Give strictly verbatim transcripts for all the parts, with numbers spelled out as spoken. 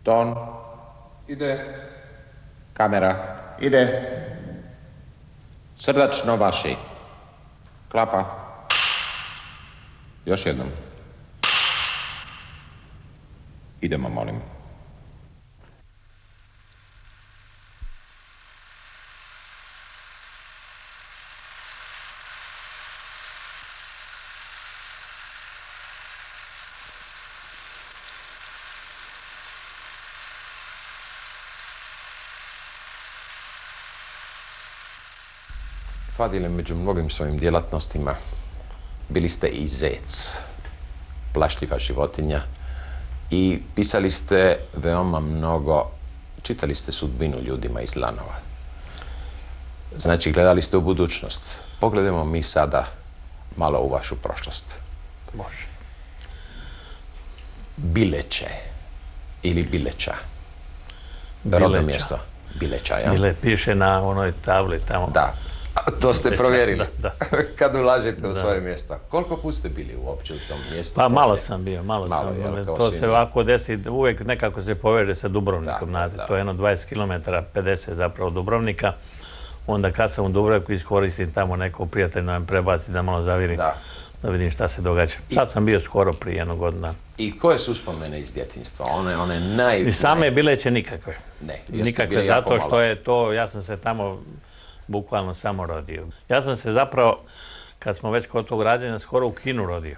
Ton. Ide. Kamera. Ide. Srdačno vaši. Klapa. Još jednom. Idemo, molim. Fadile, među mnogim svojim djelatnostima bili ste i zec, plašljiva životinja, i pisali ste veoma mnogo, čitali ste sudbinu ljudima iz lanova. Znači, gledali ste u budućnost. Pogledajmo mi sada malo u vašu prošlost. Može. Bileće ili Bileća. Bileća. Rodno mjesto. Bileća, ja? Bile piše na onoj tabli tamo. Da. A to ste provjerili. Da, da. Kad ulazite u svoje mjesto. Koliko put ste bili uopće u tom mjestu? Pa malo sam bio, malo, Malo, sam. jel, kao To svi se mi. ovako desi, uvijek nekako se poveže sa Dubrovnikom, Da, znate. da. To je jedno dvadeset kilometara, pedeset zapravo Dubrovnika. Onda kad sam u Dubrovniku iskoristim tamo nekog prijatelja da me prebaci, da malo zavirim, Da. da vidim šta se događa. Sad sam bio skoro prije jednog godina. I koje su uspomene iz djetinjstva? One, one naj... I same Bileće nikakve. Ne, jer ste Nikakve, bili jako zato što malo. je to, ja sam se tamo bukvalno samo rodio. Ja sam se zapravo, kad smo već kod tog rađenja, skoro u Kinu rodio.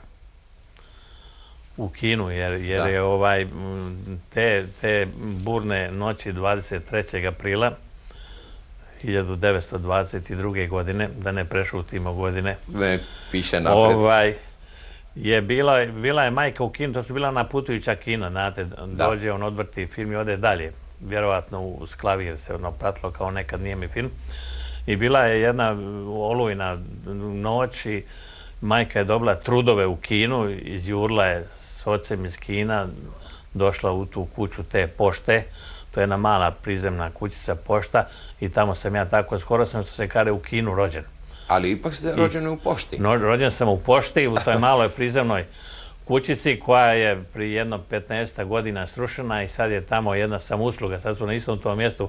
U Kinu, jer, jer Da. je ovaj, m, te, te burne noći dvadeset trećeg aprila hiljadu devetsto dvadeset druge. godine, da ne prešutimo godine, Ne, piše napred. ovaj, je bila, bila je majka u kinu, to su bila ona putujuća kina, znate, dođe, on odvrti film i ode dalje. Vjerovatno u sklavir se ono pratilo kao nekad nijemi film. I bila je jedna olujna noć i majka je dobila trudove u kinu, izjurla je s ocem iz kina, došla u tu kuću te pošte, to je jedna mala prizemna kućica pošta i tamo sam ja tako, skoro sam što se kaže u Kinu rođen. Ali ipak ste rođeni u pošti. No, rođen sam u pošti, u toj maloj prizemnoj kućici koja je prije jedno petnaest godina srušena i sad je tamo jedna samousluga. Sad su na istom tom mjestu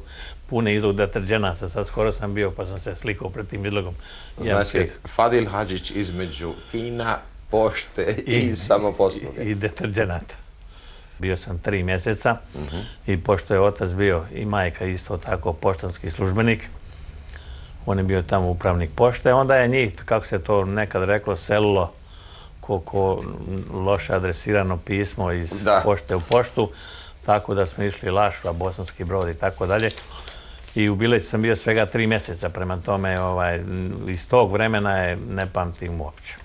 puni izlog deterđenasa. Sad skoro sam bio pa sam se slikao pred tim izlogom. Znači, Fadil Hadžić između kina, pošte i, i samoposluge. I, i deterđenata. Bio sam tri mjeseca uh-huh. i pošto je otac bio i majka isto tako poštanski službenik, on je bio tamo upravnik pošte, onda je njih, kako se to nekad reklo, selilo ko, ko loše adresirano pismo iz Da. pošte u poštu, tako da smo išli Lašva, Bosanski Brod i tako dalje. I u Bileći sam bio svega tri mjeseca, prema tome ovaj, iz tog vremena je ne pamtim uopće.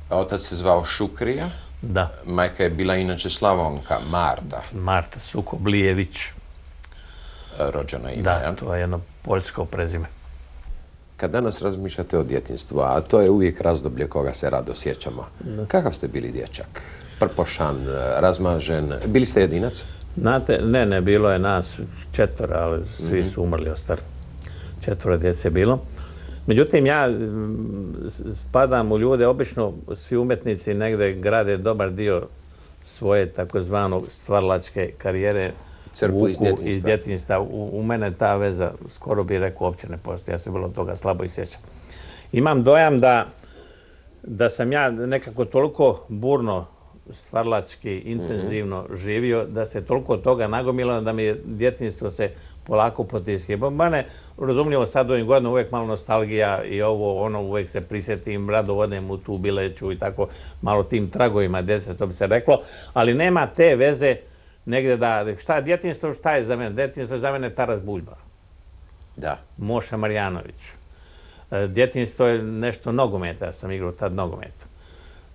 A otac se zvao Šukrija, Da, majka je bila inače Slavonka, Marta, Marta Sukoblijević. rođena ime. Da, jel? to je jedno poljsko prezime. Kad danas razmišljate o djetinjstvu, a to je uvijek razdoblje koga se rado sjećamo, kakav ste bili dječak? Prpošan, razmažen, bili ste jedinac? Znate, ne, ne, bilo je nas četvora, ali svi mm-hmm. su umrli ostali. Četvora djece je bilo. Međutim, ja m, spadam u ljude, obično svi umjetnici negdje grade dobar dio svoje takozvano stvaralačke karijere Crpu iz djetinjstva. iz djetinjstva. U, u mene ta veza, skoro bih rekao, uopće ne postoji. Ja se bilo toga slabo i sjećam. Imam dojam da, da sam ja nekako toliko burno stvaralački, intenzivno mm-hmm. živio, da se toliko toga nagomilo da mi je djetinjstvo se polako potiski. Mene, razumljivo, sad ovim godinama uvijek malo nostalgija i ovo, ono, uvijek se prisjetim, rado odem u tu Bileću i tako malo tim tragovima djece, to bi se reklo, ali nema te veze negdje da, šta je djetinjstvo, šta je za mene? Djetinjstvo je za mene Taras Buljba, Da. Moša Marjanović. Djetinjstvo je nešto nogometa, ja sam igrao tad nogometa.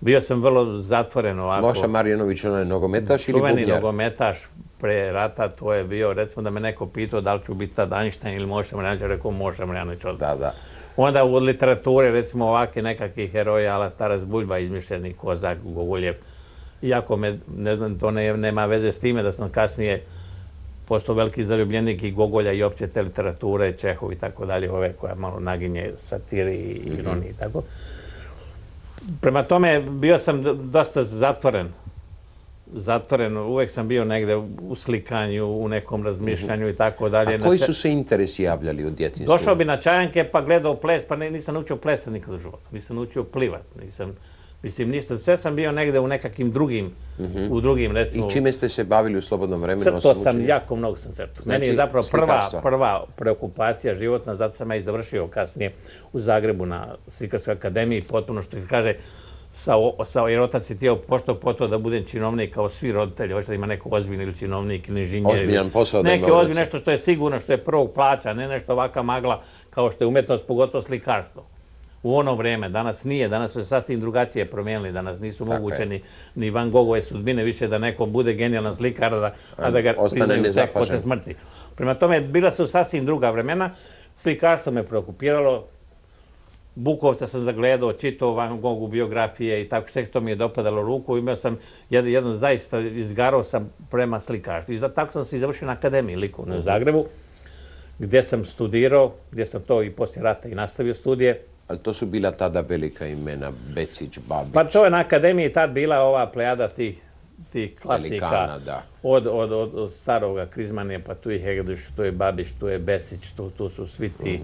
Bio sam vrlo zatvoren ovako. Moša Marjanović, on je nogometaš ili Čuveni bubnjar? nogometaš pre rata, to je bio, recimo da me neko pitao da li ću biti tad Einstein ili Moša Marjanović, rekao Moša Marjanović odmah. Da, da. Onda u literaturi, recimo ovakvi nekakvi heroji, ala Taras Buljba, izmišljeni Kozak, Gogoljev. Iako me, ne znam, to ne, nema veze s time da sam kasnije postao veliki zaljubljenik i Gogolja i opće te literature, Čehov i tako dalje, ove koja malo naginje satiri i ironiji i tako. Prema tome, bio sam dosta zatvoren zatvoren, uvek sam bio negde u slikanju, u nekom razmišljanju i tako dalje. A koji su se interesi javljali u djetinjstvu? Došao bi na čajanke pa gledao ples, pa nisam naučio plesati nikad u životu. Nisam naučio plivat, nisam, mislim ništa. Sve sam bio negde u nekakvim drugim, u drugim recimo... I čime ste se bavili u slobodnom vremenu? Crto sam, jako mnogo sam crto. Meni je zapravo prva, prva preokupacija životna, zato sam ja i završio kasnije u Zagrebu na Slikarskoj akademiji, potpuno što kaže, jer otac je htio pošto poto da budem činovnik kao svi roditelji, hoće da ima neko ozbiljno ili činovnik ili inženjer. Ozbiljan posao da ima Neki ozbiljno, nešto što je sigurno, što je prvog plaća, ne nešto ovaka magla kao što je umetnost, pogotovo slikarstvo. U ono vreme, danas nije, danas su se sasvim drugačije promijenili, danas nisu moguće ni Van Gogove sudbine više da neko bude genijalan slikar, a da ga priznaju tek posle smrti. Prema tome, bila su sasvim druga vremena, slikarstvo me preokupiralo, Bukovca sam zagledao, čitao Van Gogu biografije i tako što to mi je dopadalo ruku. Imao sam jedno zaista, izgarao sam prema slikarstvu. I tako sam se i završio na akademiji likovnoj u Zagrebu, gdje sam studirao, gdje sam to i poslije rata i nastavio studije. Ali to su bila tada velika imena, Becić, Babić. Pa to je na akademiji tad bila ova plejada tih klasika. Od staroga Krizmanija, pa tu je Hegedić, tu je Babić, tu je Becić, tu su svi ti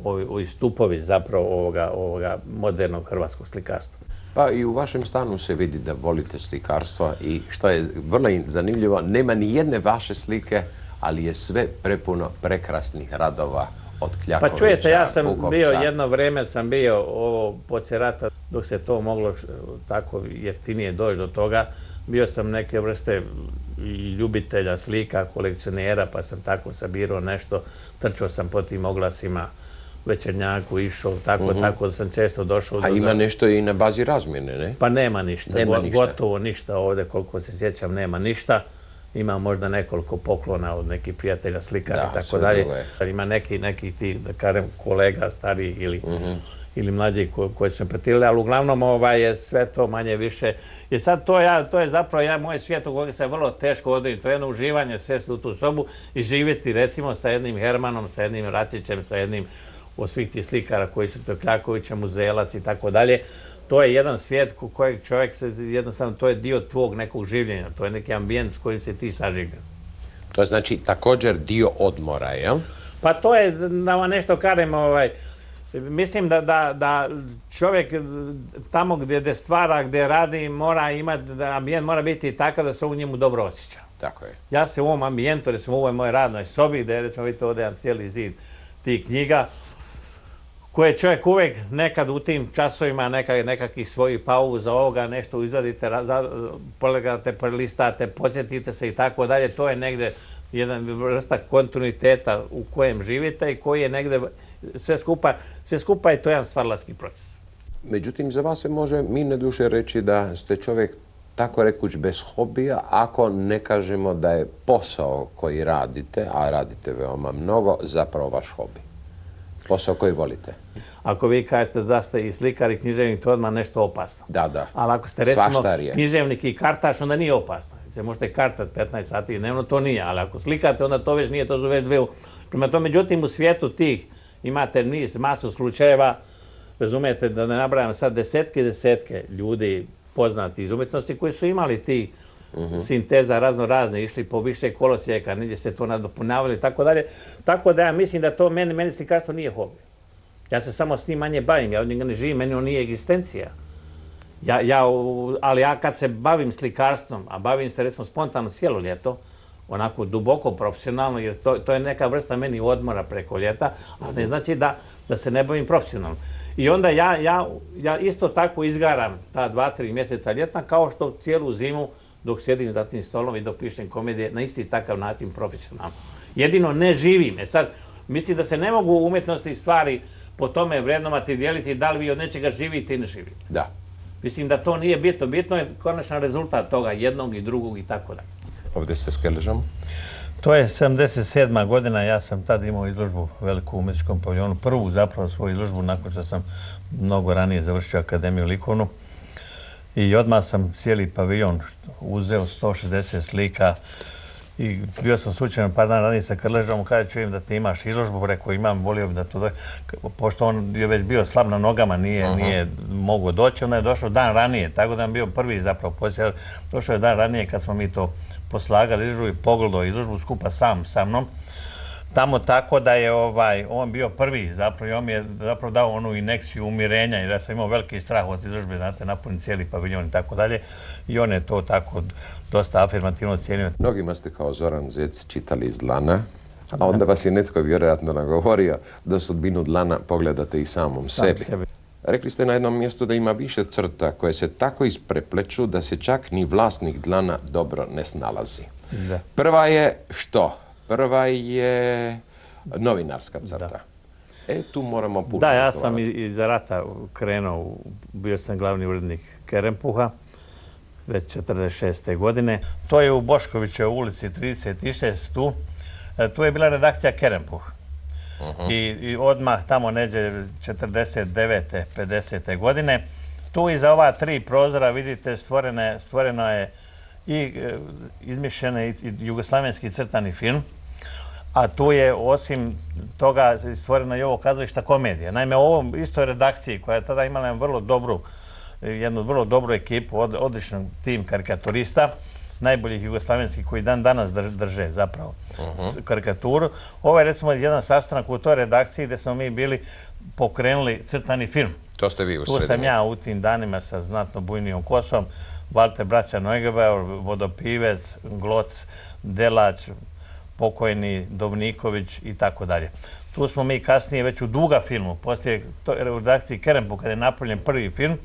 ovi stupovi zapravo ovoga modernog hrvatskog slikarstva. Pa i u vašem stanu se vidi da volite slikarstvo i što je vrlo zanimljivo, nema ni jedne vaše slike, ali je sve prepuno prekrasnih radova od Kljakovića, Bukovca. Pa čujete, ja sam bio, jedno vreme sam bio ovo poslije rata, dok se to moglo tako jeftinije doći do toga, bio sam neke vrste ljubitelja slika, kolekcionera, pa sam tako sabirao nešto, trčao sam po tim oglasima, Večernjaku išao, tako, tako da sam često došao... A ima nešto i na bazi razmjene, ne? Pa nema ništa, gotovo ništa ovdje, koliko se sjećam, nema ništa. Ima možda nekoliko poklona od nekih prijatelja, slikara i tako dalje. Ima neki tih, da kažem, kolega stariji ili mlađi koji su me pratili, ali uglavnom je sve to manje više. I sad to je zapravo moj svijet u kojem se vrlo teško odreći. To je jedno uživanje svesti u tu sobu i živjeti recimo sa jednim Hermanom, sa jednim Račićem, sa jednim od svih tih slikara koji su to Kljakovića, Muzelac i tako dalje. To je jedan svijet kojeg čovjek se, jednostavno, to je dio tvog nekog življenja, to je neki ambijent s kojim se ti saživljen. To je znači također dio odmora, jel? Pa to je, da vam nešto kažem, mislim da čovjek tamo gdje stvara, gdje radi, mora imati, ambijent mora biti takav da se u njemu dobro osjeća. Tako je. Ja se u ovom ambijentu, recimo u ovoj mojoj radnoj sobi, gdje recimo vidite ovdje jedan cijeli zid tih knjiga, koje čovjek uvijek nekad u tim časovima nekakvih svojih pauza ovoga, nešto izvadite, polegate, prelistate, podsjetite se i tako dalje. To je negdje jedan vrsta kontinuiteta u kojem živite i koji je negdje sve skupa, sve skupa je to jedan stvaralački proces. Međutim, za vas se može mirne duše reći da ste čovjek tako rekuć bez hobija, ako ne kažemo da je posao koji radite, a radite veoma mnogo, zapravo vaš hobi. Posao koji volite. Ako vi kažete da ste i slikar i književnik, to je odmah nešto opasno. Da, da. Ali ako ste recimo književnik i kartaš, onda nije opasno. Se možete kartati petnaest sati dnevno, to nije. Ali ako slikate, onda to već nije, to su već dve. Prema to, međutim, u svijetu tih imate niz, masu slučajeva, razumijete, da ne nabrajam sad desetke i desetke ljudi poznati iz umjetnosti koji su imali ti sinteza razno razne, išli po više kolosijeka, negdje se to nadopunjavali i tako dalje. Tako da ja mislim da to meni, meni slikarstvo nije hobi. Ja se samo s njim manje bavim, ja od njega ne živim, meni on nije egzistencija. Ja, ja, ali ja kad se bavim slikarstvom, a bavim se recimo spontano cijelo ljeto, onako duboko profesionalno, jer to, to je neka vrsta meni odmora preko ljeta, a ne znači da, da se ne bavim profesionalno. I onda ja, ja, ja isto tako izgaram ta dva, tri mjeseca ljetna, kao što cijelu zimu dok sjedim za tim stolom i dok pišem komedije, na isti takav način profesionalno. Jedino ne živim. E sad, mislim da se ne mogu umjetnosti stvari po tome vrednovati i dijeliti da li vi od nečega živite i ne živite. Da. Mislim da to nije bitno. Bitno je konačan rezultat toga, jednog i drugog i tako dalje. Ovdje ste s Krležom? To je sedamdeset sedma godina, ja sam tad imao izložbu veliku u Umetničkom paviljonu. Prvu zapravo svoju izložbu, nakon što sam mnogo ranije završio Akademiju likovnu. I odmah sam cijeli paviljon uzeo, sto šezdeset slika I bio sam slučajno par dana ranije sa Krležom, kada čujem da ti imaš izložbu, rekao imam, volio bi da to dođe. Pošto on je već bio slab na nogama, nije, nije mogao doći, onda je došao dan ranije, tako da nam bio prvi zapravo posjet. Došao je dan ranije kad smo mi to poslagali izložbu i pogledao izložbu skupa sam sa mnom. Tamo tako da je ovaj, on bio prvi zapravo i on mi je zapravo dao onu injekciju umirenja jer ja sam imao veliki strah od izložbe, znate, napuniti cijeli paviljon i tako dalje i on je to tako dosta afirmativno cijenio. Mnogima ste kao Zoran Zec čitali iz Dlana, a onda vas je netko vjerojatno nagovorio da sudbinu Dlana pogledate i samom sebi. Rekli ste na jednom mjestu da ima više crta koje se tako isprepleću da se čak ni vlasnik Dlana dobro ne snalazi. Da. Prva je što? Prva je novinarska crta. E, tu moramo puno. Da, ja sam iz rata krenuo, bio sam glavni urednik Kerempuha, već četrdeset šeste godine. To je u Boškovićevoj ulici trideset šest tu. Tu je bila redakcija Kerempuh. I, I odmah tamo neđe četrdeset devete pedesete godine. Tu iza ova tri prozora, vidite, stvorene, stvoreno je i e, izmišljen i jugoslavenski crtani film, a tu je osim toga stvorena i ovo kazališta komedija. Naime, u ovom istoj redakciji koja je tada imala vrlo dobru, jednu vrlo dobru ekipu, od, odličan tim karikaturista, najboljih jugoslavenskih koji dan danas drže zapravo uh-huh. karikaturu. Ovo je recimo jedan sastanak u toj redakciji gdje smo mi bili pokrenuli crtani film. To ste vi u Tu sam ja u tim danima sa znatno bujnijom kosom, Valter braća Neugebauer, Vodopivec, Gloc, Delać, pokojni Dovniković i tako dalje. Tu smo mi kasnije već u Duga filmu, poslije u redakciji Kerempuh, kada je napravljen prvi film,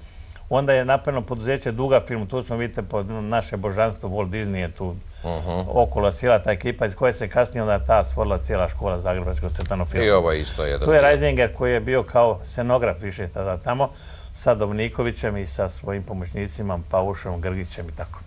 onda je napravljeno poduzeće Duga film, tu smo, vidite, pod naše božanstvo Walt Disney je tu uh-huh. okolo cijela ta ekipa iz koje se kasnije onda ta stvorila cijela škola zagrebačkog crtanog filma. I ovo je isto jedan. Tu je Reisinger koji je bio kao scenograf više tada tamo, sa Dovnikovićem i sa svojim pomoćnicima, Paušom, Grgićem i tako.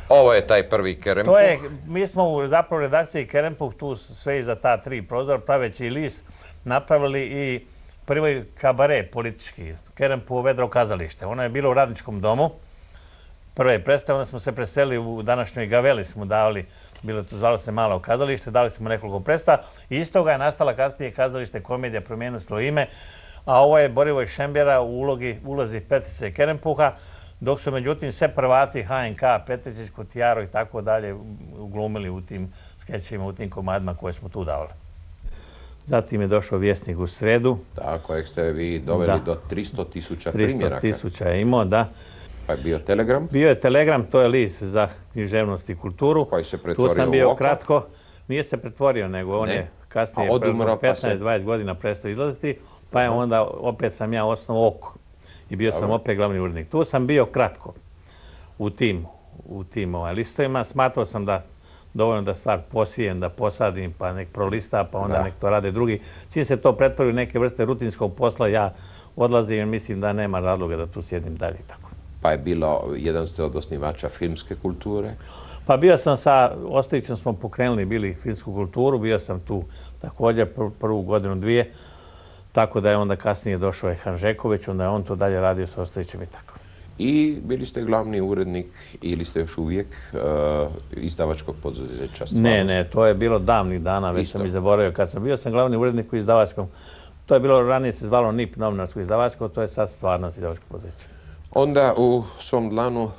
Ovo je taj prvi Kerempuh. To je, mi smo u zapravo redakciji Kerempuh tu sve iza ta tri prozora, praveći list, napravili i prvi kabare politički, Kerempuh Vedro kazalište. Ono je bilo u Radničkom domu, prve predstave, onda smo se preselili u današnjoj Gaveli, smo davali, bilo to zvalo se malo kazalište, dali smo nekoliko predstava i iz toga je nastala kasnije kazalište komedija, promijenilo svoje ime, a ovo je Borivoj Šembjera u ulogi, ulozi Petrice Kerempuha, dok su međutim sve prvaci H N K, Petričić, Kutijaro i tako dalje uglumili u tim skečima, u tim komadima koje smo tu davali. Zatim je došao Vjesnik u sredu. Da, kojeg ste vi doveli da. do tristo tisuća primjeraka. tristo tisuća je imao, da. Pa je bio Telegram? Bio je Telegram, to je list za književnost i kulturu. Koji se pretvorio tu sam bio u Oko? Kratko. Nije se pretvorio, nego on ne. je kasnije petnaest dvadeset godina prestao izlaziti, pa je onda opet sam ja osnovao Oko. I bio Dobre. sam opet glavni urednik. Tu sam bio kratko u tim, u tim ovaj, listovima. Smatrao sam da dovoljno da stvar posijem, da posadim, pa nek prolista, pa onda da. nek to rade drugi. Čim se to pretvori u neke vrste rutinskog posla, ja odlazim i mislim da nema razloga da tu sjedim dalje. Tako. Pa je bilo, jedan ste od osnivača filmske kulture? Pa bio sam sa, Ostojićem smo pokrenuli, bili filmsku kulturu, bio sam tu također pr prvu godinu, dvije, tako da je onda kasnije došao je Hanžeković, onda je on to dalje radio sa Ostojićem i tako. I bili ste glavni urednik ili ste još uvijek uh, izdavačkog poduzeća Stvarnost? Ne, ne, to je bilo davnih dana, već Isto. sam i zaboravio. Kad sam bio sam glavni urednik u izdavačkom, to je bilo, ranije se zvalo N I P, novinarsko izdavačko, to je sad Stvarnost izdavačko poduzeće. Onda u svom Dlanu,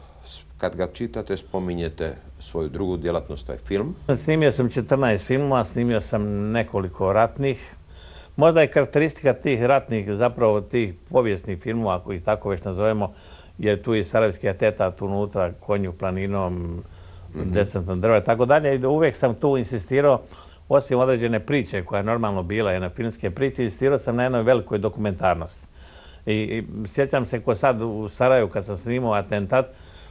kad ga čitate, spominjete svoju drugu djelatnost, to je film. Snimio sam četrnaest filmova, snimio sam nekoliko ratnih. Možda je karakteristika tih ratnih, zapravo tih povijesnih filmova, ako ih tako već nazovemo, jer tu je Sarajevski atentat unutra, Konju planinom, mm-hmm. desantna drva i tako dalje. I uvijek sam tu insistirao, osim određene priče koja je normalno bila, jedna filmske priče, insistirao sam na jednoj velikoj dokumentarnosti. I, i sjećam se ko sad u Sarajevu kad sam snimao atentat,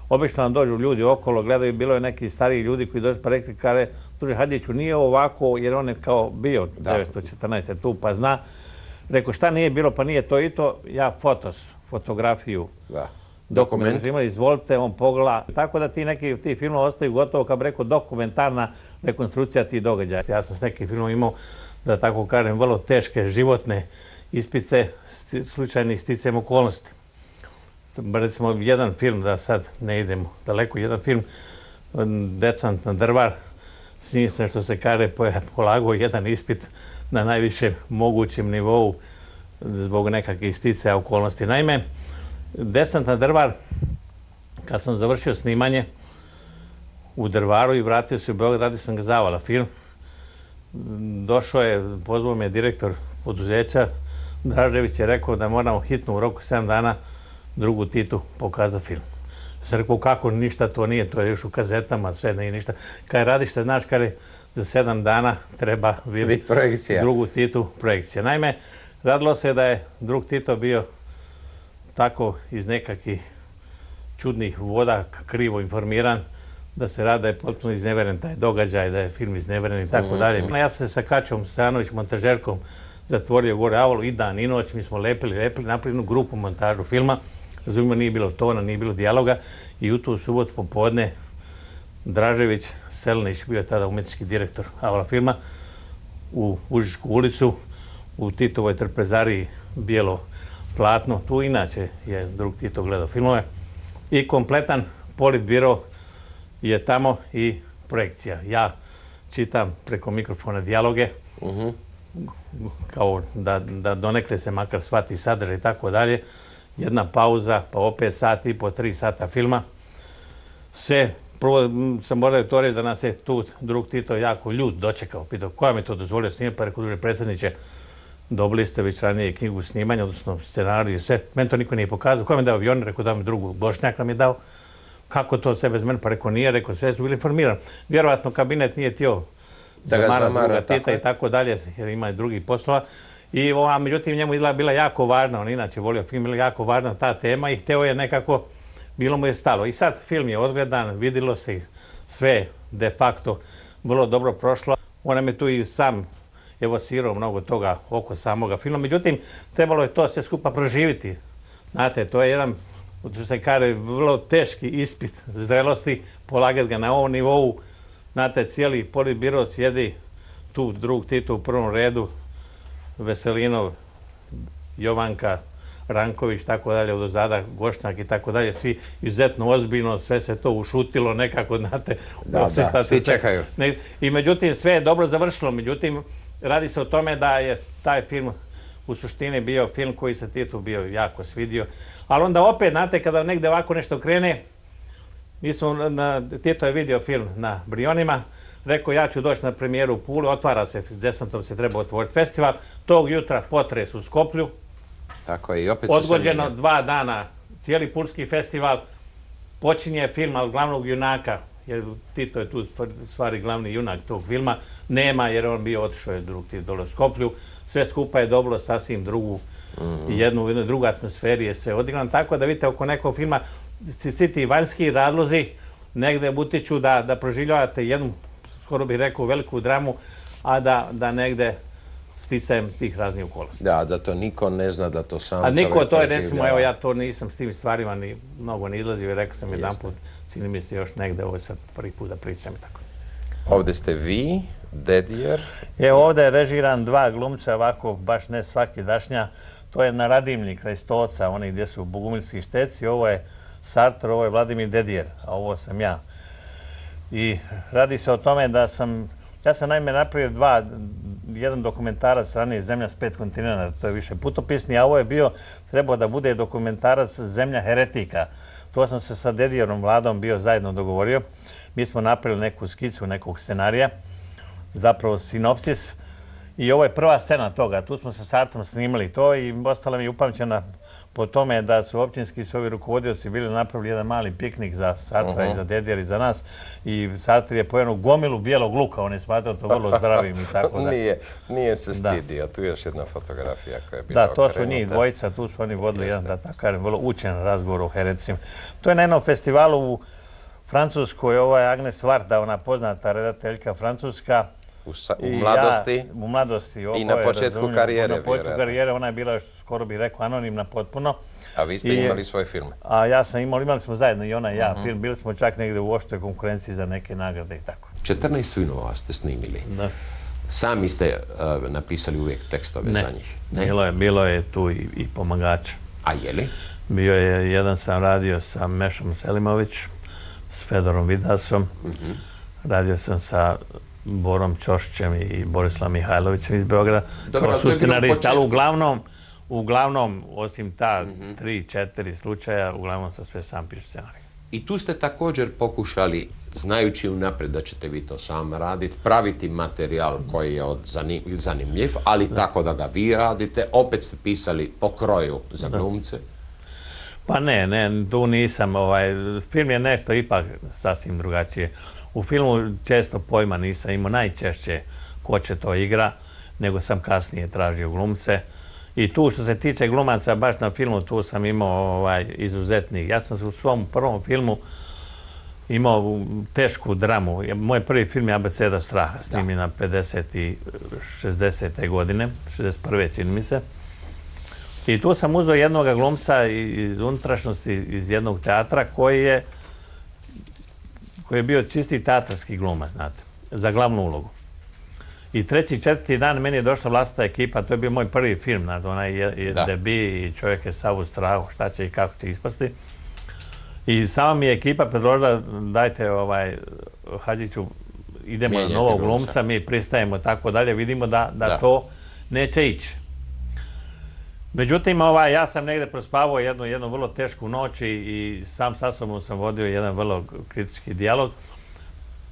obično nam dođu ljudi okolo, gledaju, bilo je neki stariji ljudi koji dođu pa rekli, kare, Duže Hadjiću, nije ovako, jer on je kao bio devetsto četrnaeste tu, pa zna. Rekao, šta nije bilo, pa nije to i to, ja fotos, fotografiju. Da. Dokument. Imali, izvolite, on pogleda. Tako da ti neki ti filmovi ostaju gotovo, kao bi rekao, dokumentarna rekonstrukcija tih događaja. Ja sam s nekim filmom imao, da tako kažem, vrlo teške životne ispice slučajnih sticajem okolnosti. Recimo, jedan film, da sad ne idemo daleko, jedan film, Desantna drva, s njim sam, što se kaže, polagao jedan ispit na najvišem mogućem nivou zbog nekakvih sticaja okolnosti. Naime, Desant na Drvar, kad sam završio snimanje u Drvaru i vratio se u Beograd, radio sam ga Zavala film. Došao je, pozvao me direktor poduzeća, Dražević je rekao da moramo hitno u roku sedam dana drugu Titu pokazati film. Sam rekao, kako, ništa to nije, to je još u kazetama, sve nije ništa. Kad radiš, te znaš, kada za sedam dana treba vidjeti drugu Titu projekcija. Naime, radilo se da je drug Tito bio tako iz nekakvih čudnih voda krivo informiran, da se radi da je potpuno izneveren taj događaj, da je film izneveren i tako dalje. Ja sam se sa Kačom Stojanović, montažerkom, zatvorio gore Avalu i dan i noć, mi smo lepili, lepili, napravili jednu grupu montažu filma. Razumimo, nije bilo tona, nije bilo dijaloga i u tu subotu popodne Dražević Selinić, bio je tada umetnički direktor Avala filma, u Užičku ulicu, u Titovoj trpezariji bijelo platno, tu inače je drug Tito gledao filmove i kompletan politbiro je tamo i projekcija. Ja čitam preko mikrofona dijaloge, kao da donekle se makar shvati sadržaj i tako dalje. Jedna pauza, pa opet sat i po, tri sata filma. Sve, prvo sam morao to reći da nas je tu drug Tito jako ljud dočekao. Pitao, koja mi to dozvolio snimati, pa rekao, druže predsjedniče, dobili ste već ranije knjigu snimanja, odnosno scenariju i sve. Meni to niko nije pokazao. Koja mi je dao avion? Rekao, dao mi drugu, Bošnjak nam je dao. Kako to sve bez mene? Pa rekao, nije, rekao, sve su bili informirani. Vjerovatno kabinet nije htio zamara druga Tita i tako dalje, jer ima i drugih poslova. I ova, međutim, njemu izgleda bila jako važna, on inače volio film, bila jako važna ta tema i hteo je nekako, bilo mu je stalo. I sad film je odgledan, vidilo se i sve de facto vrlo dobro prošlo. On nam je tu i sam evocirao mnogo toga oko samoga filma. Međutim, trebalo je to sve skupa proživiti. Znate, to je jedan, što se kaže, vrlo teški ispit zrelosti, polagati ga na ovom nivou. Znate, cijeli politbiro sjedi tu drug Tito u prvom redu, Veselinov, Jovanka, Ranković, tako dalje, od ozada, Gošnjak i tako dalje, svi izuzetno ozbiljno, sve se to ušutilo nekako, znate. Da, da, svi čekaju. I međutim, sve je dobro završilo, međutim, radi se o tome da je taj film u suštini bio film koji se Titu bio jako svidio, ali onda opet, znate, kada negde ovako nešto krene, mi smo, Tito je vidio film na Brionima, rekao, ja ću doći na premijeru u Pulu, otvara se, Desantom se treba otvoriti festival, tog jutra potres u Skoplju. Tako je, i opet se sve odgođeno dva dana, cijeli Pulski festival, počinje film, ali glavnog junaka, jer Tito je tu stvari glavni junak tog filma, nema, jer on bio otišao je drug Tito dole u Skoplju, sve skupa je dobilo sasvim drugu, jednu, jednu drugu atmosferi je sve odigrano, tako da vidite oko nekog filma, svi ti vanjski razlozi negde utiču da, da proživljavate jednu, skoro bih rekao, veliku dramu, a da, da negde sticajem tih raznih okolnosti. Da, da to niko ne zna, da to sam čovjek proživljava. A niko, to je, recimo, evo, ja to nisam s tim stvarima ni mnogo ne izlazio i rekao sam jedan put, čini mi se još negde, ovo je sad prvi put da pričam i tako. Ovde ste vi, Dedijer. Evo, ovde je režiran dva glumca, ovako, baš ne svaki dašnja. To je na Radimlji, kraj Stoca, oni gdje su Bogumilski šteci. Ovo je Sartre, ovo je Vladimir Dedijer, a ovo sam ja. I radi se o tome da sam, ja sam naime napravio dva, jedan dokumentarac strane Zemlja s pet kontinenta, to je više putopisni, a ovo je bio, trebao da bude dokumentarac Zemlja heretika. To sam se sa Dedijerom Vladom bio zajedno dogovorio. Mi smo napravili neku skicu nekog scenarija, zapravo sinopsis, i ovo je prva scena toga. Tu smo sa Sartrom snimali to i ostala mi je upamćena po tome da su općinski i ovi rukovodioci bili napravili jedan mali piknik za Sartra i za Dedijer i za nas. I Sartre je pojeno gomilu bijelog luka, on je smatrao to vrlo zdravim i tako da. Nije, nije se stidio, tu je još jedna fotografija koja je bila okrenuta. Da, to su njih dvojica, tu su oni vodili jedan, da tako kažem, vrlo učen razgovor o hereticima. To je na jednom festivalu u Francuskoj, ovo je Agnes Varda, ona poznata redateljka francuska. U mladosti? U mladosti. I na početku karijere, Na početku karijere, ona je bila, skoro bih rekao, anonimna potpuno. A vi ste imali svoj film? A ja sam imao, imali smo zajedno i ona i ja film. Bili smo čak negde u oštoj konkurenciji za neke nagrade i tako. četrnaest filmova ste snimili. Da. Sami ste napisali uvijek tekstove za njih? Ne, bilo je tu i pomagača. A je li? Bio je, jedan sam radio sa Mešom Selimović, s Fedorom Vidasom, Radio sam sa Borom Ćošćem i Borislavom Mihajlovićem iz Beograda. Dobro, kao to je su bilo u scenaristi, ali početku. uglavnom, uglavnom, osim ta tri, četiri slučaja, uglavnom sam sve sam pišu scenarij. I tu ste također pokušali, znajući unaprijed da ćete vi to sam raditi, praviti materijal koji je od zanim- zanimljiv, ali tako da ga vi radite. Opet ste pisali po kroju za glumce. Pa ne, ne, tu nisam. Ovaj, film je nešto ipak sasvim drugačije. U filmu često pojma nisam imao, najčešće ko će to igra, nego sam kasnije tražio glumce. I tu što se tiče glumaca, baš na filmu, tu sam imao ovaj, izuzetnih. Ja sam u svom prvom filmu imao tešku dramu. Moj prvi film je Abeceda straha, snimljen na pedeset i šezdesete godine, šezdeset prve čini mi se. I tu sam uzeo jednog glumca iz unutrašnjosti, iz jednog teatra, koji je, koji je bio čisti teatarski glumac, znate, za glavnu ulogu. I treći, četvrti dan meni je došla vlastita ekipa, to je bio moj prvi film, znači, onaj je debi i čovjek je sav u strahu, šta će i kako će ispasti. I sama mi je ekipa predložila, dajte, ovaj, Hadžiću, idemo na novog glumca, mi pristajemo tako dalje, vidimo da, da to neće ići. Međutim, ovaj, ja sam negde prospavao jednu, jednu vrlo tešku noć i, i sam sa sobom sam vodio jedan vrlo kritički dijalog.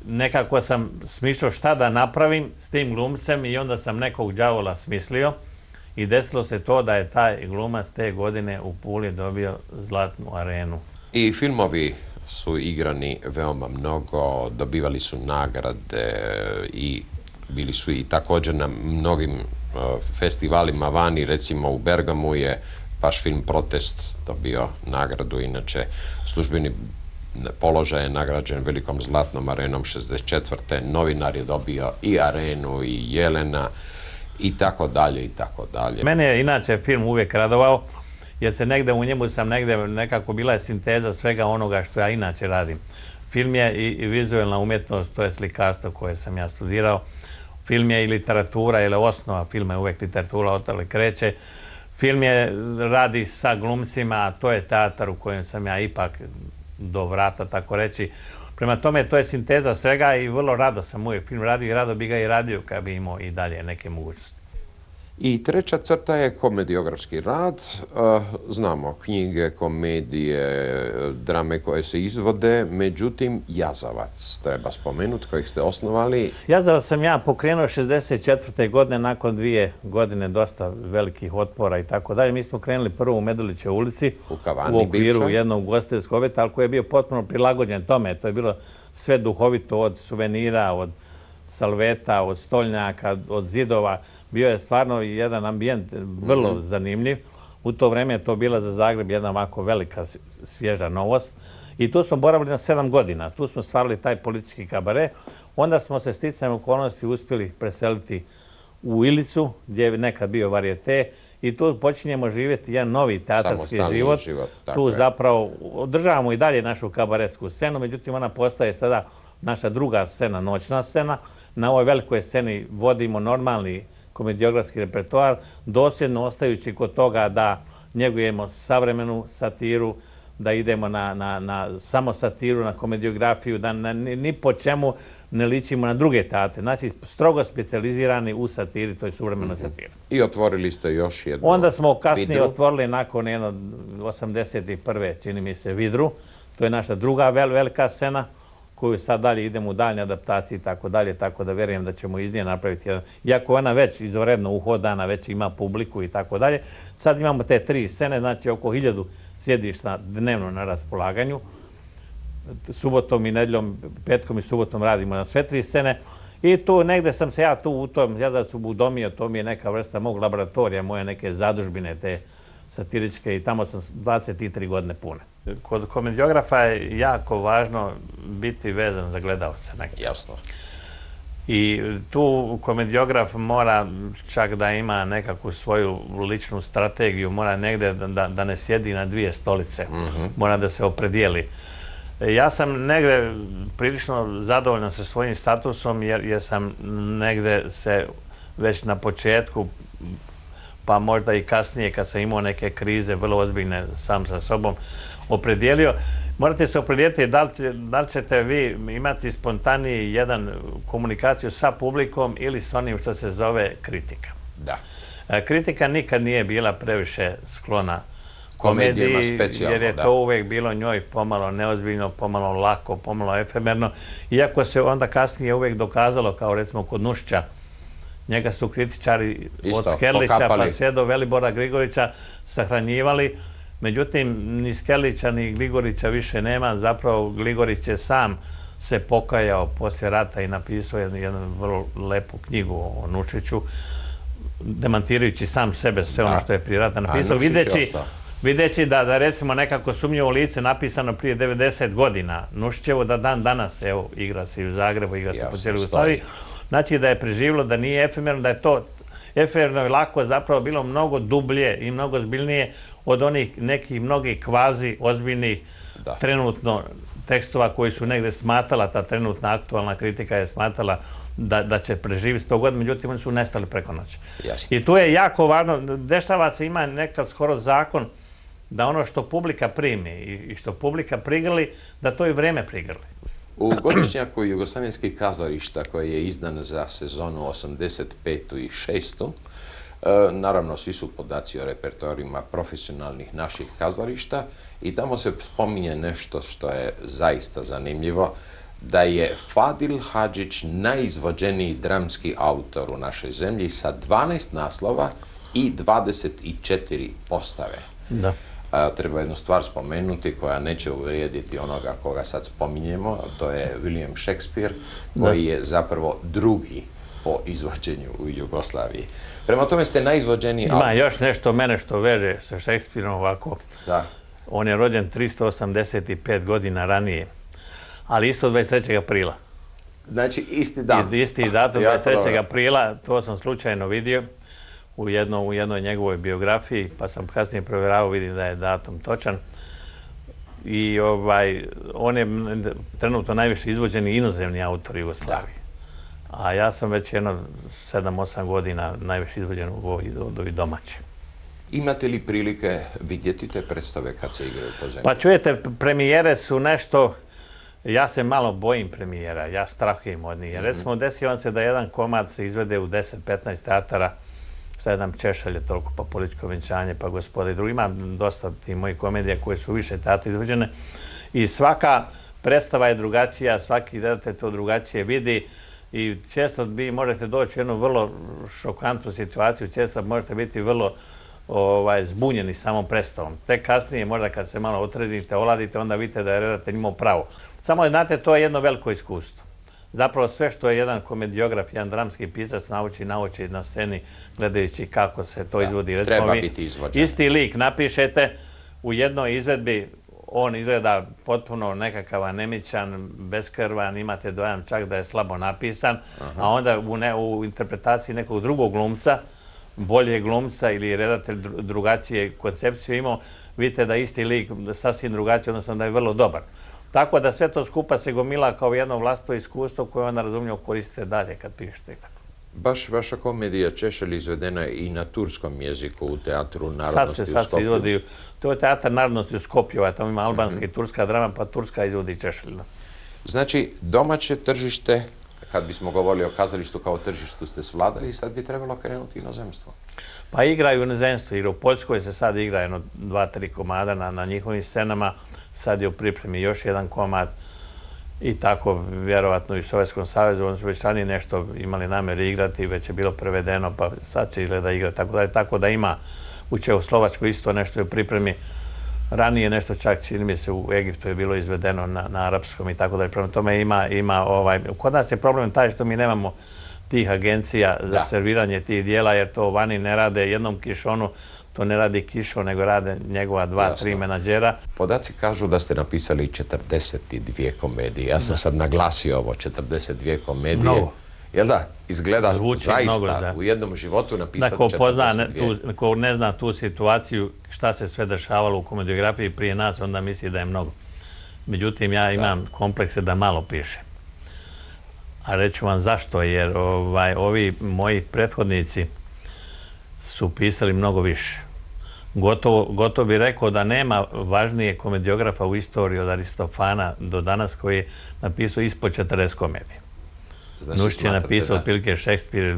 Nekako sam smišljao šta da napravim s tim glumcem i onda sam nekog đavola smislio i desilo se to da je taj glumac te godine u Puli dobio Zlatnu arenu. I filmovi su igrani veoma mnogo, dobivali su nagrade i bili su i također na mnogim festivalima vani, recimo u Bergamu je vaš film Protest dobio nagradu, inače službeni položaj je nagrađen velikom Zlatnom arenom šezdeset četvrte Novinar je dobio i arenu i Jelena i tako dalje i tako dalje. Mene je inače film uvijek radovao, jer se negde u njemu sam negde nekako bila je sinteza svega onoga što ja inače radim. Film je i vizualna umjetnost, to je slikarstvo koje sam ja studirao. Film je i literatura, ili osnova filma je uvijek literatura, otale kreće. Film je radi sa glumcima, a to je teatar u kojem sam ja ipak do vrata, tako reći. Prema tome, to je sinteza svega i vrlo rado sam uvijek film radio i rado bi ga i radio kad bi imao i dalje neke mogućnosti. I treća crta je komediografski rad. Znamo knjige, komedije, drame koje se izvode, međutim Jazavac treba spomenuti, kojeg ste osnovali. Jazavac sam ja pokrenuo šezdeset četvrte godine, nakon dvije godine dosta velikih otpora i tako dalje. Mi smo krenuli prvo u Medulićevoj ulici, u okviru jednog ugostiteljskog objekta, ali koji je bio potpuno prilagođen tome. To je bilo sve duhovito, od suvenira, od salveta, od stolnjaka, od zidova. Bio je stvarno jedan ambijent vrlo zanimljiv. U to vreme je to bila za Zagreb jedna ovako velika svježa novost. I tu smo boravili na sedam godina. Tu smo stvarali taj politički kabare. Onda smo se sticajem okolnosti uspjeli preseliti u Ilicu, gdje je nekad bio varijete. I tu počinjemo živjeti jedan novi teatarski život. Tu zapravo održavamo i dalje našu kabaretsku scenu, međutim ona postaje sada naša druga scena, noćna scena. Na ovoj velikoj sceni vodimo normalni komediografski repertoar, dosljedno ostajući kod toga da njegujemo savremenu satiru, da idemo na, na, na samo satiru, na komediografiju, da na, ni po čemu ne ličimo na druge teatre. Znači, strogo specijalizirani u satiri, to je suvremena mm-hmm. satira. I otvorili ste još jednu Onda smo kasnije Vidru. otvorili nakon jedno osamdeset prve čini mi se, Vidru. To je naša druga vel, velika scena, koju sad dalje idemo u daljnje adaptacije i tako dalje, tako da vjerujem da ćemo iz nje napraviti jedan. Iako ona već izvanredno uhodana, već ima publiku i tako dalje. Sad imamo te tri scene, znači oko hiljadu sjedišta dnevno na raspolaganju. Subotom i nedjeljom, petkom i subotom radimo na sve tri scene. I tu negde sam se ja tu u tom Jazavcu udomio, to mi je neka vrsta mog laboratorija, moje neke zadužbine, te satiričke, i tamo sam dvadeset tri godine pune. Kod komediografa je jako važno biti vezan za gledalce. Jasno. I tu komediograf mora čak da ima nekakvu svoju ličnu strategiju, mora negde da, da ne sjedi na dvije stolice, mm-hmm. mora da se opredijeli. Ja sam negde prilično zadovoljan sa svojim statusom jer, jer sam negde se već na početku, pa možda i kasnije kad sam imao neke krize vrlo ozbiljne sam sa sobom, opredijelio. Morate se opredijeliti da li, da li ćete vi imati spontaniji jedan komunikaciju sa publikom ili s onim što se zove kritika. Da. Kritika nikad nije bila previše sklona komediji, jer je to uvijek bilo njoj pomalo neozbiljno, pomalo lako, pomalo efemerno. Iako se onda kasnije uvijek dokazalo, kao recimo kod Nušića, njega su kritičari od Skerlića pa sve do Velibora Grigorića sahranjivali. Međutim, ni Skerlića ni Gligorića više nema. Zapravo Gligorić je sam se pokajao poslije rata i napisao jednu vrlo lepu knjigu o Nušiću, demantirajući sam sebe sve ono što je prije rata napisao, videći da, da recimo nekako sumnjivo lice napisano prije devedeset godina, Nušićevo da dan danas, evo, igra se i u Zagrebu, igra se po cijeloj Jugoslaviji, znači da je preživjelo, da nije efemerno, da je to efemerno i lako zapravo bilo mnogo dublje i mnogo ozbiljnije od onih nekih mnogih kvazi ozbiljnih trenutno tekstova koji su negdje smatala, ta trenutna aktualna kritika je smatala da, da će preživiti sto godina, međutim oni su nestali preko noći. I tu je jako važno, dešava se, ima nekad skoro zakon da ono što publika primi i što publika prigrli, da to i vreme prigrli. U godišnjaku jugoslavenskih kazališta koji je izdan za sezonu osamdeset petu i šestu naravno svi su podaci o repertoarima profesionalnih naših kazališta i tamo se spominje nešto što je zaista zanimljivo, da je Fadil Hadžić najizvođeniji dramski autor u našoj zemlji sa dvanaest naslova i dvadeset četiri postave. Da. Treba jednu stvar spomenuti koja neće uvrijediti onoga koga sad spominjemo, a to je William Shakespeare, koji je zapravo drugi po izvođenju u Jugoslaviji. Prema tome ste najizvođeniji autor. Ima još nešto mene što veže sa Shakespeareom ovako. Da. On je rođen tristo osamdeset pet godina ranije, ali isto dvadeset trećeg aprila. Znači isti dan. Isti datum, dvadeset trećeg aprila, to sam slučajno vidio u jednoj njegovoj biografiji, pa sam kasnije provjeravao, vidim da je datum točan. I on je trenutno najviše izvođeni inozemni autor Jugoslavije. A ja sam već jedno sedam osam godina najviše izvođen od ovih domaćih. Imate li prilike vidjeti te predstave kad se igraju po zemlji? Pa čujete, premijere su nešto, ja se malo bojim premijera, ja strahujem od njih. Recimo, desi vam se da jedan komad se izvede u deset petnaest teatara, šta je nam Češalje toliko, pa Političko venčanje, pa Gospoda i drugi. Ima dosta tih mojih komedija koje su više teatra izvođene i svaka predstava je drugačija, svaki redatelj to drugačije vidi i često vi možete doći u jednu vrlo šokantnu situaciju, često možete biti vrlo zbunjeni samom predstavom. Tek kasnije, možda kad se malo otredite, oladite, onda vidite da je redatelj imao pravo. Samo, znate, to je jedno veliko iskustvo. Zapravo sve što je jedan komediograf, jedan dramski pisac nauči, nauči na sceni gledajući kako se to izvodi. Treba biti izvođen. Isti lik napišete u jednoj izvedbi, on izgleda potpuno nekakav anemičan, beskrvan, imate dojam čak da je slabo napisan, a onda u interpretaciji nekog drugog glumca, bolje glumca ili redatelj drugačije koncepciju imao, vidite da isti lik sasvim drugačiji, odnosno da je vrlo dobar. Tako da sve to skupa se gomila kao jedno vlastito iskustvo koje onda razumljivo koristite dalje kad pišete i tako. Baš vaša komedija Češelj izvedena je i na turskom jeziku u Teatru narodnosti u Skopju. Sad se izvodi, to je Teatar narodnosti u Skopju, tamo ima albanska i turska drama, pa turska izvodi Češelj. Znači, domaće tržište, kad bismo govorili o kazalištu kao tržištu, ste svladali i sad bi trebalo krenuti inozemstvo. Pa igraju u inozemstvu, jer u Poljskoj se sad igra jedno dva, tri komada na njihovim scenama, sad je u pripremi još jedan komad i tako vjerovatno i u Sovjetskom savezu, oni su već ranije nešto imali namjeri igrati, već je bilo prevedeno, pa sad će izgleda igrati, tako da tako da ima u Čehoslovačkoj isto nešto je u pripremi. Ranije nešto čak, čini mi se, u Egiptu je bilo izvedeno na arapskom i tako da. Prema tome ima, kod nas je problem taj što mi nemamo tih agencija za serviranje tih dijela, jer to vani ne rade jednom kišonu, to ne radi Kišo, nego rade njegova dva, tri menadžera. Podaci kažu da ste napisali četrdeset dvije komedije. Ja sam sad naglasio ovo, četrdeset dvije komedije. Mnogo. Jel da? Izgleda zaista u jednom životu napisati četrdeset dvije. Ko ne zna tu situaciju, šta se sve dešavalo u komediografiji prije nas, onda misli da je mnogo. Međutim, ja imam komplekse da malo pišem. A reću vam zašto, jer ovi moji prethodnici su pisali mnogo više. gotovo, gotovo bi rekao da nema važnije komediografa u istoriji od Aristofana do danas koji je napisao ispod četrdeset komedija. Znači, Nušić je napisao otprilike Šekspir,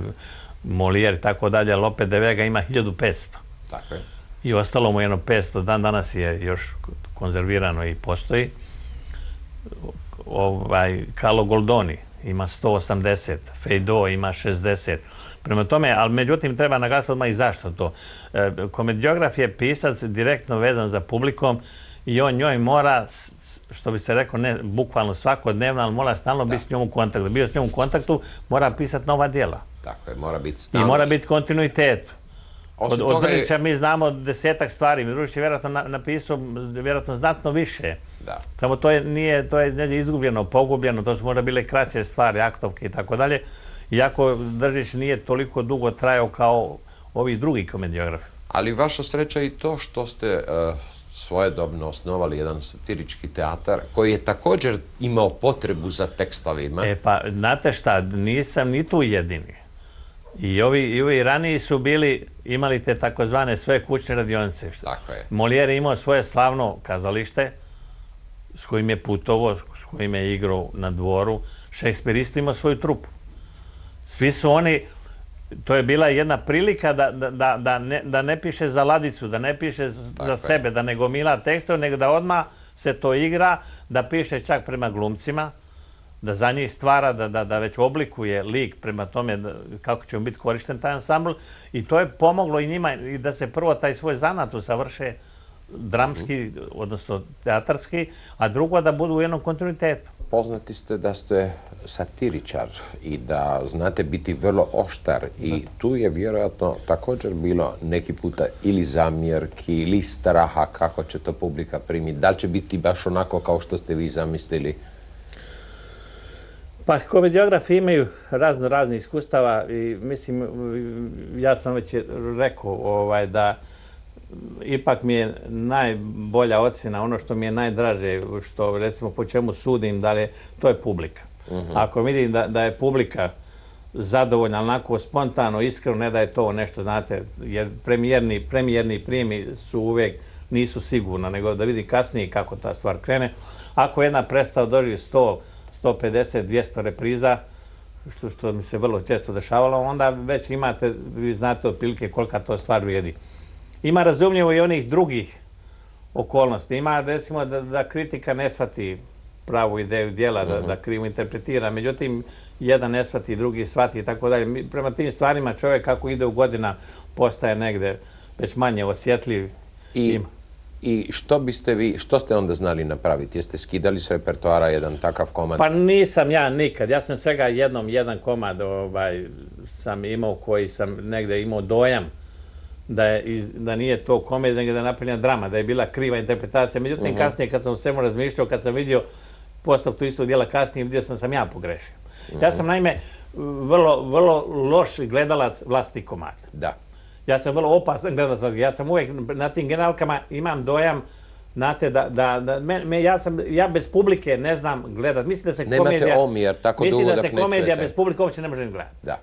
Molière i tako dalje, ali opet de Vega ima hiljadu petsto. Tako je. I ostalo mu jedno petsto, dan danas je još konzervirano i postoji. Ovaj, Carlo Goldoni ima sto osamdeset, Feydeau ima šezdeset. Prema tome, ali međutim treba naglasiti odmah i zašto to. E, komediograf je pisac direktno vezan za publikom i on njoj mora, što bi se rekao, ne bukvalno svakodnevno, ali mora stalno biti s njom u kontaktu. Da bio s njom u kontaktu, mora pisati nova djela. Tako je, mora biti stalno. I mora biti kontinuitet. Od, od Drnića je... mi znamo desetak stvari, Družić je vjerojatno napisao vjerojatno znatno više. Da. Samo to je, nije, to je izgubljeno, pogubljeno, to su možda bile kraće stvari, aktovke i tako dalje. Iako Držić nije toliko dugo trajao kao ovi drugi komediografi. Ali vaša sreća i to što ste uh, svojedobno osnovali jedan satirički teatar koji je također imao potrebu za tekstovima. E pa, znate šta, nisam ni tu jedini. I ovi, i ovi raniji su bili, imali te takozvane sve kućne radionice. Tako je. Molière je imao svoje slavno kazalište s kojim je putovao, s kojim je igrao na dvoru. Šekspir isto imao svoju trupu. Svi su oni, to je bila jedna prilika da, da, da, ne, da ne piše za ladicu, da ne piše Tako za sebe, je. da ne gomila tekstove, nego da odmah se to igra, da piše čak prema glumcima, da za njih stvara, da, da, da već oblikuje lik prema tome da, kako će mu biti korišten taj ansambl. I to je pomoglo i njima i da se prvo taj svoj zanat usavrše dramski, odnosno teatarski, a drugo da budu u jednom kontinuitetu. Poznati ste da ste satiričar i da znate biti vrlo oštar i tu je vjerojatno također bilo neki puta ili zamjerki ili straha kako će to publika primiti. Da li će biti baš onako kao što ste vi zamislili? Pa komediografi imaju razno razne iskustava i mislim, ja sam već rekao ovaj, da ipak mi je najbolja ocjena, ono što mi je najdraže, što recimo po čemu sudim, da li, to je publika. Uh-huh. Ako vidim da, da je publika zadovoljna, onako spontano, iskreno, ne da je to nešto, znate, jer premijerni, premijerni prijemi su uvijek, nisu sigurno, nego da vidi kasnije kako ta stvar krene. Ako jedna predstava doživi sto, sto pedeset, dvjesto repriza, što, što mi se vrlo često dešavalo, onda već imate, vi znate otprilike kolika to stvar vrijedi. Ima razumljivo i onih drugih okolnosti. Ima, recimo, da, da kritika ne shvati pravu ideju djela, da, da krivo interpretira. Međutim, jedan ne shvati, drugi shvati i tako dalje. Prema tim stvarima čovjek kako ide u godina postaje negde već manje osjetljiv. I, i što biste vi, što ste onda znali napraviti? Jeste skidali s repertoara jedan takav komad? Pa nisam ja nikad. Ja sam svega jednom jedan komad ovaj, sam imao koji sam negde imao dojam da, je, da nije to komedija, nego da je napravljena drama, da je bila kriva interpretacija. Međutim, uh-huh. kasnije kad sam u svemu razmišljao, kad sam vidio postavku istog dijela kasnije, vidio sam sam ja pogrešio. Uh-huh. Ja sam naime vrlo, vrlo loš gledalac vlastitih komada. Da. Ja sam vrlo opasan gledalac vlastitih. Ja sam uvijek na tim generalkama imam dojam, znate, da, da, da me, me, ja, sam, ja bez publike ne znam gledat. Mislim da se Nemate komedija... omjer, tako dugo mislim dok da se ne komedija čujete. bez publike uopće ne može gledati. Da.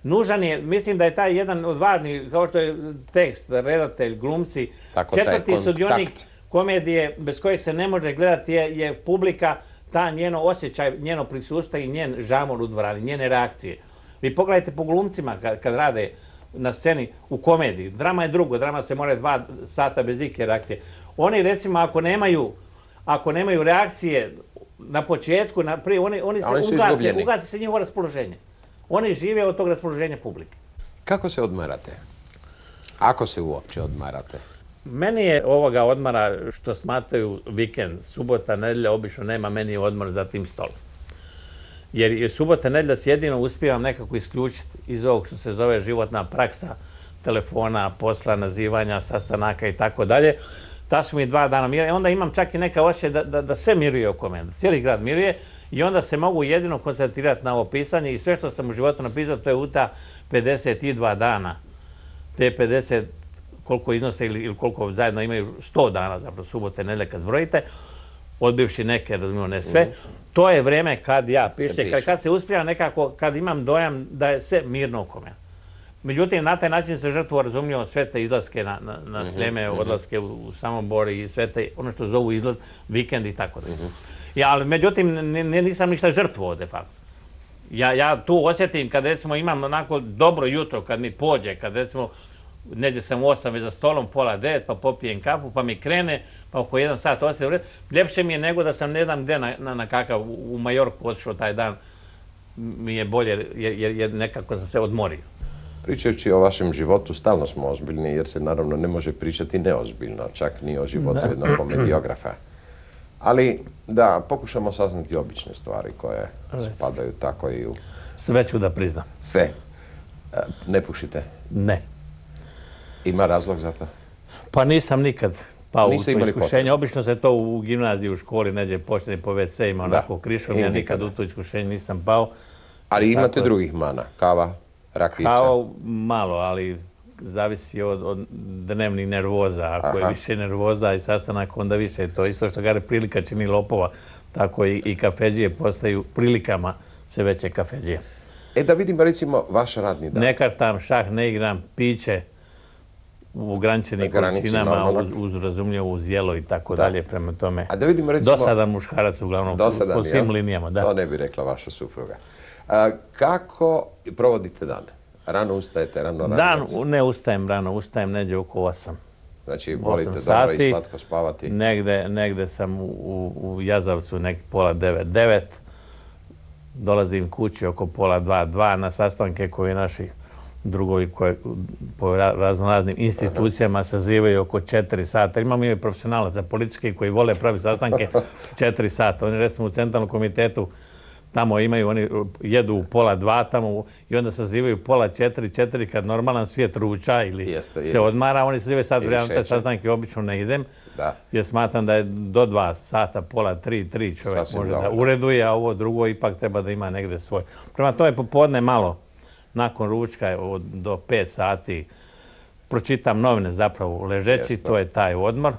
Nužan je, mislim da je taj jedan od važnih, kao što je tekst, redatelj, glumci, tako, četvrti sudionik komedije bez kojeg se ne može gledati je, je publika, ta njeno osjećaj, njeno prisustvo i njen žamor u dvorani, njene reakcije. Vi pogledajte po glumcima kad, kad rade na sceni u komediji. Drama je drugo, drama se mora dva sata bez ikakve reakcije. Oni recimo ako nemaju, ako nemaju reakcije na početku, na prije, oni, oni se oni ugase, ugase se njihovo raspoloženje. Oni žive od tog raspoloženja publike. Kako se odmarate? Ako se uopće odmarate? Meni je ovoga odmara što smatraju vikend, subota, nedjelja, obično nema meni odmor za tim stolom. Jer subota, nedjelja se jedino uspijevam nekako isključiti iz ovog što se zove životna praksa, telefona, posla, nazivanja, sastanaka i tako dalje. Ta su mi dva dana mira i onda imam čak i neka osjećaj da, da, da sve miruje oko mene, da cijeli grad miruje i onda se mogu jedino koncentrirati na ovo pisanje i sve što sam u životu napisao to je u ta pedeset dva dana. Te pedeset koliko iznose ili, ili koliko zajedno imaju sto dana, zapravo subote, nedjelje kad zbrojite, odbivši neke, razumijemo ne sve, mm. to je vrijeme kad ja pišem, kad, kad se uspijem nekako, kad imam dojam da je sve mirno oko mene. Međutim, na taj način se žrtvo razumljivo sve te izlaske na, na, na Sljeme, odlaske u, u Samobor i sve te, ono što zovu izlaz, vikend i tako da. Ja, ali međutim, nisam ništa žrtvo de facto. Ja, ja tu osjetim kad recimo imam onako dobro jutro, kad mi pođe, kad recimo neđe sam u osam već za stolom, pola devet, pa popijem kafu, pa mi krene, pa oko jedan sat ostaje u redu. Ljepše mi je nego da sam ne znam gde na, na, na kakav u Majorku otišao taj dan. Mi je bolje jer, jer, jer nekako sam se odmorio. Pričajući o vašem životu, stalno smo ozbiljni jer se naravno ne može pričati neozbiljno, čak ni o životu jednog komediografa. Ali da pokušamo saznati obične stvari koje spadaju tako i u... Sve ću da priznam. Sve? Ne pušite? Ne. Ima razlog za to? Pa nisam nikad pao u to iskušenje. Obično se to u gimnaziji, u školi neđe počne po ve ce-ima, onako krišom. Ja nikad u to iskušenje nisam pao. Ali imate drugih mana? Kava, rakića? Kava malo, ali zavisi od, od dnevnih nervoza. Ako je više nervoza i sastanak, onda više. To isto što kaže prilika čini lopova. Tako i, i kafeđije postaju prilikama sve veće kafeđije. E da vidimo recimo vaš radni dan. Ne kartam, šah ne igram, piće u ograničenim količinama, uz, uz razumljivo, uz jelo i tako dalje, prema tome. A da vidimo recimo... Dosadan muškarac uglavnom, dosadan, po svim linijama. Da. To ne bi rekla vaša supruga. A, kako provodite dan? Rano ustajete, rano radite? Dan ne ustajem rano, ustajem neđe oko osam. Znači, volite dobro i slatko spavati? Negde, negde sam u, u Jazavcu, nek pola devet, devet. Dolazim kući oko pola dva, dva na sastanke koje naši drugovi koje po raznoraznim institucijama sazivaju oko četiri sata. Imamo i profesionalaca politički koji vole pravi sastanke četiri sata. Oni recimo u centralnom komitetu tamo imaju, oni jedu u pola dva tamo i onda sazivaju pola četiri, četiri kad normalan svijet ruča ili Jeste, se odmara. Oni sazivaju sad vrijeme, te sastanke obično ne idem. Da. Jer smatram da je do dva sata, pola tri, tri čovjek Sasvim može dobro. da ureduje, a ovo drugo ipak treba da ima negde svoj. Prema tome popodne malo, nakon ručka od, do pet sati, pročitam novine zapravo ležeći, Jeste. to je taj odmor.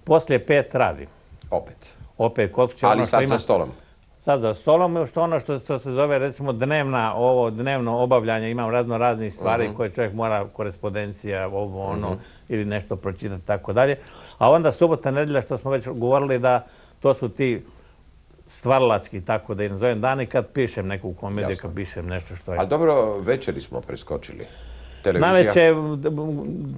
Poslije pet radim. Opet. Opet kod kuće. Ali ono sad ima, za stolom? Sad za stolom, što ono što, što se zove recimo dnevna, ovo dnevno obavljanje, imam razno raznih stvari uh-huh. koje čovjek mora, korespondencija, ovo ono, uh-huh. ili nešto pročitati, tako dalje. A onda subota, nedjelja, što smo već govorili da to su ti stvaralački, tako da ih nazovem dani kad pišem neku komediju, Jasno. Kad pišem nešto što je... Ali dobro, večeri smo preskočili. Televizija? Naveče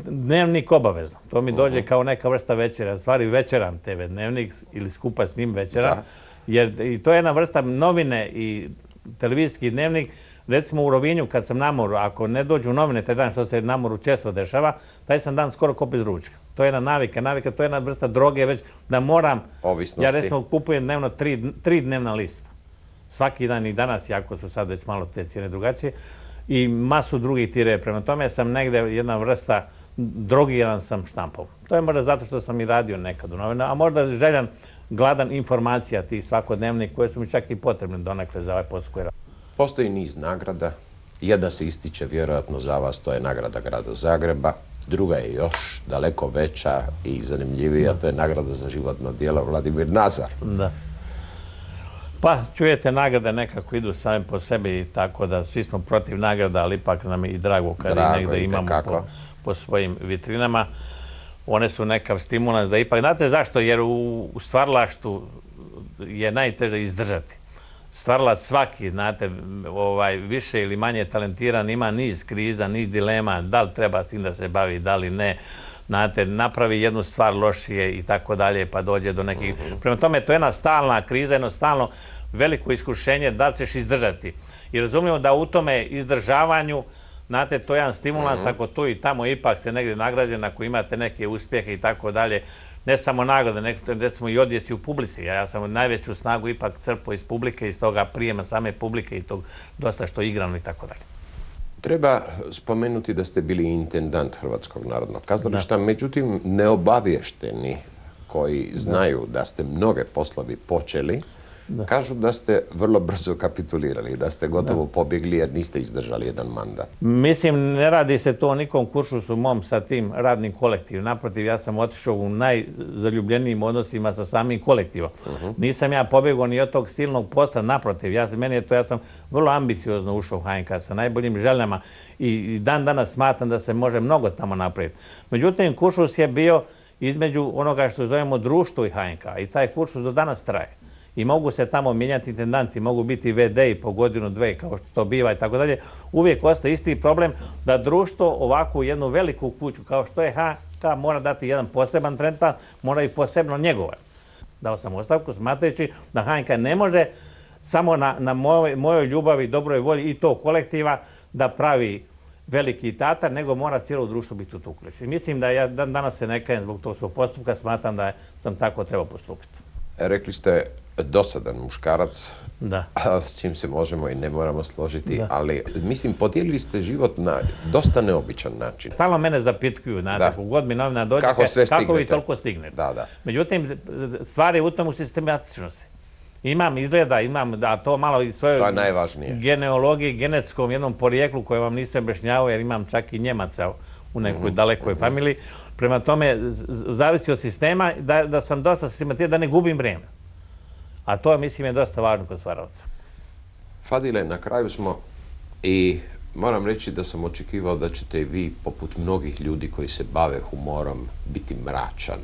dnevnik obavezno. To mi dođe uh-huh. kao neka vrsta večera. Stvari večeram te ve dnevnik ili skupa s njim večeram. Da. Jer i to je jedna vrsta novine i televizijski dnevnik. Recimo u Rovinju kad sam na moru, ako ne dođu novine taj dan, što se na moru često dešava, taj sam dan skoro kopio iz ručka. To je jedna navika, navika, to je jedna vrsta droge već da moram... Ovisnosti. Ja recimo kupujem dnevno tri, tri dnevna lista. Svaki dan i danas, jako su sad već malo te cijene drugačije. I masu drugih tire. Prema tome sam negde jedna vrsta, drogiran sam štampom. To je možda zato što sam i radio nekad u novina, a možda željan gladan informacija tih svakodnevnih koje su mi čak i potrebne donekle za ovaj posao koji radim. Postoji niz nagrada. Jedna se ističe vjerojatno za vas, to je nagrada grada Zagreba. Druga je još daleko veća i zanimljivija, to je nagrada za životno djelo Vladimir Nazar. Da. Pa, čujete, nagrade nekako idu same po sebi, tako da svi smo protiv nagrada, ali ipak nam je i drago kad drago, ih negde imamo po, po svojim vitrinama. One su nekav stimulans da ipak... Znate zašto? Jer u, u stvaralaštu je najteže izdržati. Stvaralac svaki, znate, ovaj, više ili manje talentiran, ima niz kriza, niz dilema, da li treba s tim da se bavi, da li ne. Znate, napravi jednu stvar lošije i tako dalje, pa dođe do nekih... Uh-huh. Prema tome, to je jedna stalna kriza, jedno stalno veliko iskušenje da li ćeš izdržati. I razumijemo da u tome izdržavanju, znate, to je jedan stimulans, uh-huh. ako tu i tamo ipak ste negdje nagrađeni, ako imate neke uspjehe i tako dalje, ne samo nagrade, nek, recimo i odjeci u publici. Ja, ja sam najveću snagu ipak crpo iz publike, iz toga prijema same publike i tog dosta što igrano i tako dalje. Treba spomenuti da ste bili intendant Hrvatskog narodnog kazališta, međutim neobavješteni koji znaju da ste mnoge poslovi počeli, Kažu da ste vrlo brzo kapitulirali, da ste gotovo pobjegli jer niste izdržali jedan mandat. Mislim, ne radi se to o nikom kuršusu mom sa tim radnim kolektivom. Naprotiv, ja sam otišao u najzaljubljenijim odnosima sa samim kolektivom. Nisam ja pobjegao ni od tog silnog posla, naprotiv. Ja, meni je to, ja sam vrlo ambiciozno ušao u H N K sa najboljim željama i dan danas smatram da se može mnogo tamo napraviti. Međutim, kuršus je bio između onoga što zovemo društvo i H N K i taj kuršus do danas traje. I mogu se tamo mijenjati intendanti, mogu biti ve de i po godinu, dve, kao što to biva i tako dalje. Uvijek ostaje isti problem da društvo ovakvu jednu veliku kuću, kao što je H N K, mora dati jedan poseban tretman, mora i posebno njegovati. Dao sam ostavku smatrajući da H N K ne može samo na, na mojoj, mojoj ljubavi, dobroj volji i to kolektiva da pravi veliki tatar, nego mora cijelo društvo biti u tu uključeno. Mislim da ja dan danas se ne kajem zbog tog svog postupka, smatram da sam tako trebao postupiti. Rekli ste dosadan muškarac, Da. s čim se možemo i ne moramo složiti, ali mislim, podijelili ste život na dosta neobičan način. Stalno mene zapitkuju, znate, ako god mi novina dođe, kako, kako vi toliko stignete. Da, da. Međutim, stvar je u tomu sistematičnosti. Imam izgleda, imam, a to malo i svojoj genealogiji, genetskom jednom porijeklu koje vam nisam objašnjavao, jer imam čak i Njemaca u nekoj dalekoj familiji. Prema tome, zavisi od sistema da, da sam dosta sistematičan, da ne gubim vrijeme. A to, mislim, je dosta važno kod stvaravca. Fadile, na kraju smo i moram reći da sam očekivao da ćete vi, poput mnogih ljudi koji se bave humorom, biti mračan.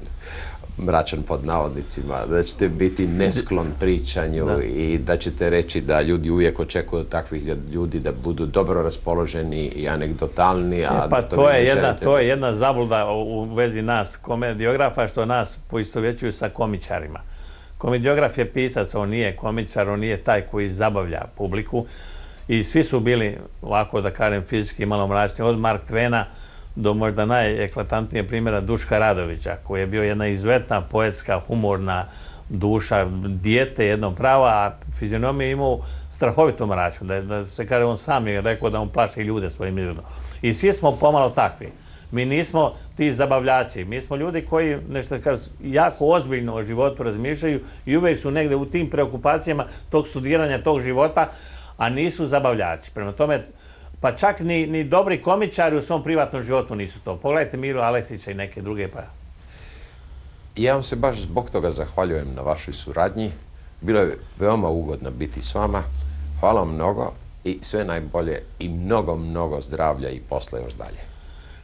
Mračan pod navodnicima, da ćete biti nesklon pričanju da. I da ćete reći da ljudi uvijek očekuju od takvih ljudi da budu dobro raspoloženi i anegdotalni. A e, pa da to, to, je jedna, želite... to je jedna zabluda u vezi nas komediografa, što nas poistovjećuju sa komičarima. Komediograf je pisac, on nije komičar, on nije taj koji zabavlja publiku i svi su bili, ovako da kažem, fizički malo mračni, od Mark Twena do možda najeklatantnije primjera Duška Radovića, koji je bio jedna izuzetna poetska, humorna duša, dijete jedno pravo, a fizionomiju imao strahovito mračnu, da, da se kaže, on sam je rekao da on plaši ljude svojim izgledom. I svi smo pomalo takvi. Mi nismo ti zabavljači, mi smo ljudi koji nešto kažu, jako ozbiljno o životu razmišljaju i uvijek su negdje u tim preokupacijama tog studiranja, tog života, a nisu zabavljači. Prema tome, pa čak ni, ni dobri komičari u svom privatnom životu nisu to. Pogledajte Miru Aleksića i neke druge. Pa. Ja vam se baš zbog toga zahvaljujem na vašoj suradnji. Bilo je veoma ugodno biti s vama. Hvala vam mnogo i sve najbolje i mnogo, mnogo zdravlja i posla još dalje.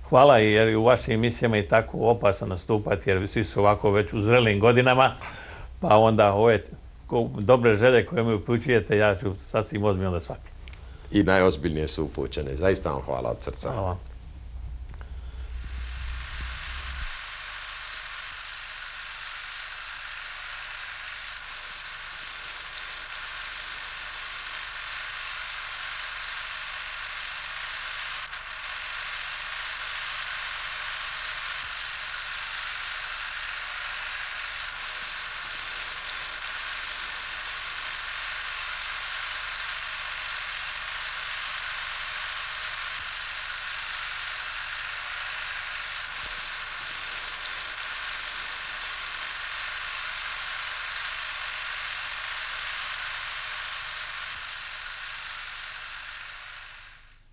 Hvala, jer u vašim emisijama je tako opasno nastupati, jer svi su ovako već u zrelim godinama, pa onda ove dobre želje koje mi upućujete, ja ću sasvim ozbiljno da shvatim. I najozbiljnije su upućene. Zaista vam hvala od srca. Hvala.